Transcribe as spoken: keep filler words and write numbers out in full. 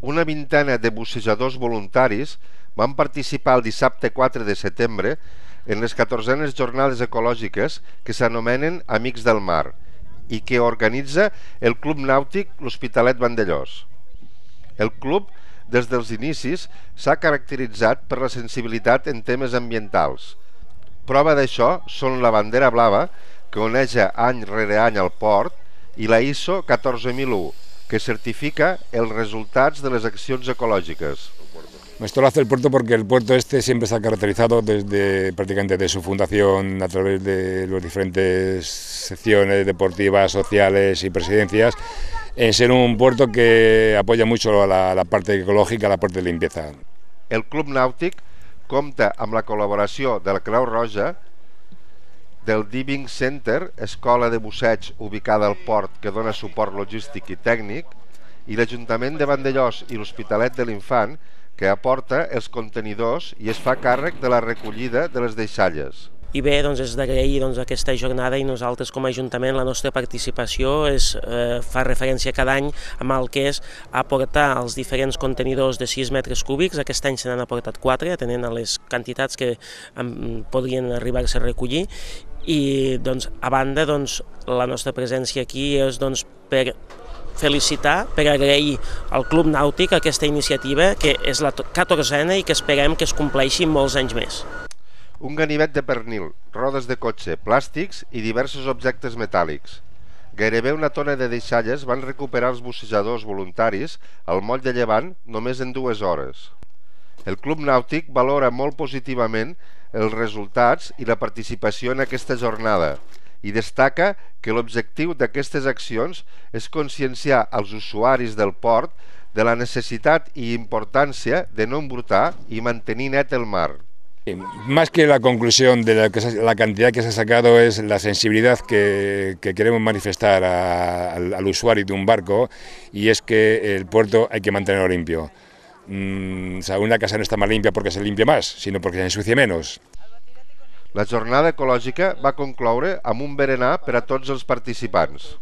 una vintena de bussejadors voluntaris van participar el dissabte quatre de setembre en les catorzenes jornades ecològiques que s'anomenen Amics del Mar i que organitza el Club Nàutic L'Hospitalet Vandellòs. El club, des dels inicis, s'ha caracteritzat per la sensibilitat en temes ambientals. Prova d'això són la bandera blava, que oneja any rere any al port, i la I S O catorze mil u, que certifica els resultats de les accions ecològiques. Esto lo hace el puerto porque el puerto este siempre se ha caracterizado desde prácticamente de su fundación a través de las diferentes secciones deportivas, sociales y presidencias, en ser un puerto que apoya mucho a la, la parte ecològica, a la parte de limpieza. El Club Nàutic compta amb la col·laboració de la Creu Roja, del Diving Center, escola de busseig ubicada al port que dona suport logístic i tècnic, i l'Ajuntament de Vandellòs i l'Hospitalet de l'Infant, que aporta els contenidors i es fa càrrec de la recollida de les deixalles. I bé, doncs és d'agrair doncs, aquesta jornada i nosaltres com a Ajuntament la nostra participació és, eh, fa referència cada any amb el que és aportar els diferents contenidors de sis metres cúbics. Aquest any se n'han aportat quatre, atenent a les quantitats que um, podrien arribar-se a recollir. I doncs, a banda, doncs, la nostra presència aquí és doncs, per felicitar, per agrair al Club Nàutic aquesta iniciativa que és la catorzena i que esperem que es compleixi molts anys més. Un ganivet de pernil, rodes de cotxe, plàstics i diversos objectes metàl·lics. Gairebé una tona de deixalles van recuperar els bussejadors voluntaris al moll de Llevant només en dues hores. El Club Nàutic valora molt positivament els resultats i la participació en aquesta jornada i destaca que l'objectiu d'aquestes accions és conscienciar als usuaris del port de la necessitat i importància de no embrutar i mantenir net el mar. Más que la conclusión de la, que se, la cantidad que se ha sacado es la sensibilidad que, que queremos manifestar a, al, al usuario de un barco, y es que el puerto hay que mantenerlo limpio. Mm, o sea, una casa no está más limpia porque se limpie más, sino porque se ensucie menos. La jornada ecològica va concloure amb un berenar per a tots els participants.